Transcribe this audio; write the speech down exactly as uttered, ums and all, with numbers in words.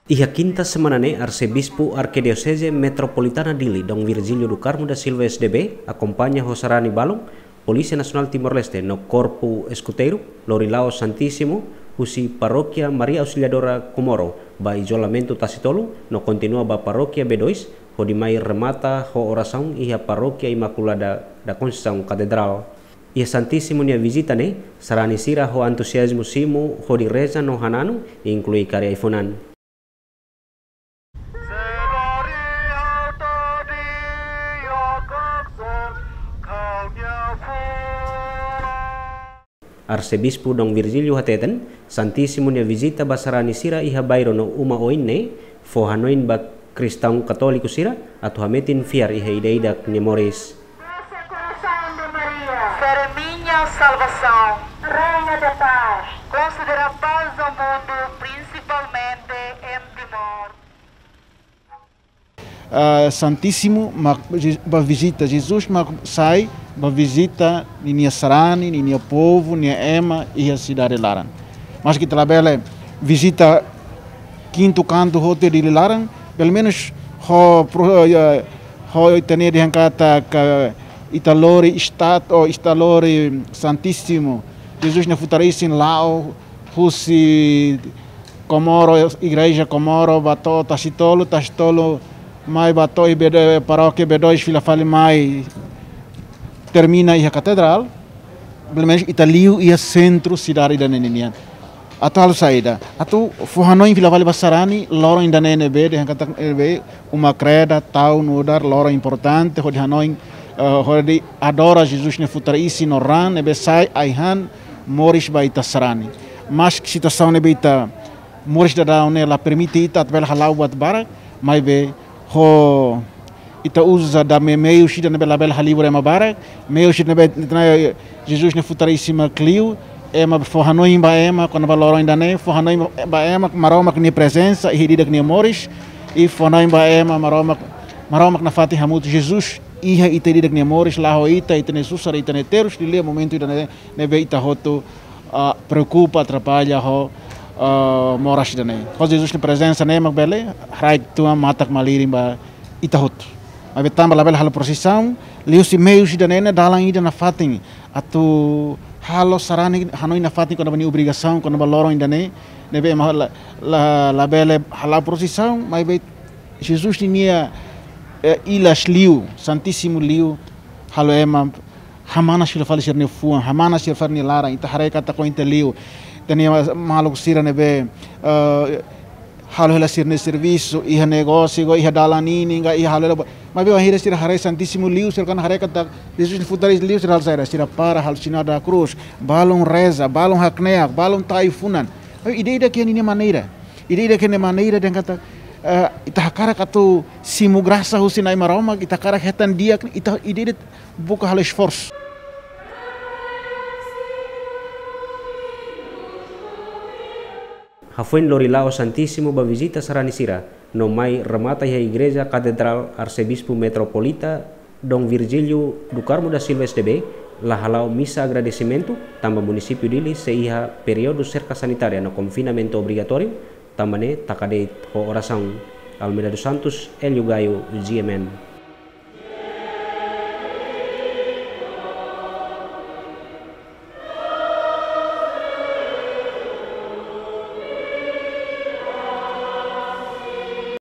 Iha kinta semana ne'e, Arsebispu Arkidioseze Metropolitana Dili, Dom Virgílio do Carmo da Silva S D B, akompaña ho sarani balun Polísia Nasionál Timor-Leste no Korpu Eskuteiru, lori la'o Santísimu husi Parókia Maria Auxiliadora Comoro ba izolamentu Tasitolu, no kontinua ba Parókia B dois, hodi mai remata ho orasaun iha Parókia Imakulada da Conceição Katedrál. Iha Santísimu nia vizita ne'e, sarani sira ho entuziazmu simu hodi reza no hananu, inklui kari ai-funan. Arsebispu Dom Virgílio hateten, Santísimu nia vizita ba sarani sira iha bairru no uma oin ne'e fó hanoin ba kristaun katóliku sira atu hametin fiar iha ida-idak nia moris. Doce coração de Maria, ser minha salvação, Rainha da paz, concederá paz ao mundo, principalmente em Timor. Ah, Santísimu mak Je-, ba vizita, Jesus mak sai ba vizita ninia sarani, ninia povu, nia ema iha sidade laran. Maski ita labele vizita kintu kantu hotu iha Dili laran, pelumenus ho pro-, eh, ho ita-nia dehan katak ita lori estat-, ou ita lori Santísimu Jesus nia futar isin la'o husi Comoro, Igreja Comoro, ba to'o Tasitolu, Tasitolu mai ba to'o iha B dois, Parókia B dois fila fali mai termina iha Katedrál, pelumenus ita liu iha sentru sidade ida-ne'e nian. Atu halo saida, atu fó hanoin fila fali ba sarani, loron ida-ne'e ne'ebé, dehan katak ne'ebé, uma kreda, tau nu'udar, loron importante, hodi hanoin, eh, hodi adora Jesus nia futar isin no raan, ne'ebé sai ai-han, moris ba ita sarani. Maski situasaun ne'ebé ita moris daudaun ne'e la permite ita atu bele hala'o buat barak, maibé ho ita uza dame meius ida ne'ebé labele halibur ema barak, meius ida ne'ebé ita-nia Jesus nia futar isin mak liu, ema fó hanoin ba ema kona-ba loron ida-ne'e, fó hanoin ba ema Maromak nia prezensa iha ida-idak nia moris, i fó hanoin ba ema Maromak, Maromak nafatin hamutuk Jesus iha ita ida-idak nia moris, la ho ita, ita-nia susar, ita-nia terus, liuliu momentu ida-ne'e ne'ebé ita hotu, ah, preokupa, atrapalla ho, ah, moras ida-ne'e. Ho Jesus nia prezensa ne'e mak bele haraik tuan matak-malirin ba ita hotu. Maibé tanba labele halo prosisaun, liuhusi meius ida-ne'e ne'e dalan ida nafatin atu halo sarani hanoin nafatin kona-ba nia obrigasaun, kona-ba loron ida-ne'e, ne'ebé ema la, la, labele hala'o prosisaun, maibé Jesus ninia, eh, ilas liu, Santísimu liu, halo ema hamanas fila fali sira-nia fuan, hamanas fila fali nia laran, ita haree katak oin tiha liu. Ita-nia maluk sira ne'ebé, eh, halo hela sira-nia servisu, iha negósiu, iha dalan ninin, ka iha halo hela ba-, maibé bainhira sira haree Santísimu liu, sira kan haree katak Jesus nia futar isin liu, sira halo saida, sira para, halo sinál da krús, balun reza, balun hakneak, balun tau ai-funan. Maibé ida-idak iha ninia maneira. Ida-idak iha nia maneira dehan katak, eh, ita hakarak atu simu grasa husi Na'i Maromak, ita hakarak hetan di'ak, ita ida-idak buka halo esforsu. Hafoin lori la'o Santísimu ba vizita sarani sira, no mai remata iha Igreja Katedrál, Arsebispu Metropolita Dom Virgílio do Carmo da Silva S D B la hala'o misa agradesimentu, tanba munisípiu Dili sei iha períodu serka sanitária no konfinamentu obrigatóriu, tanba ne'e taka de'it ho orasaun. Almeida dos Santos, Hélio Gaio, G M N.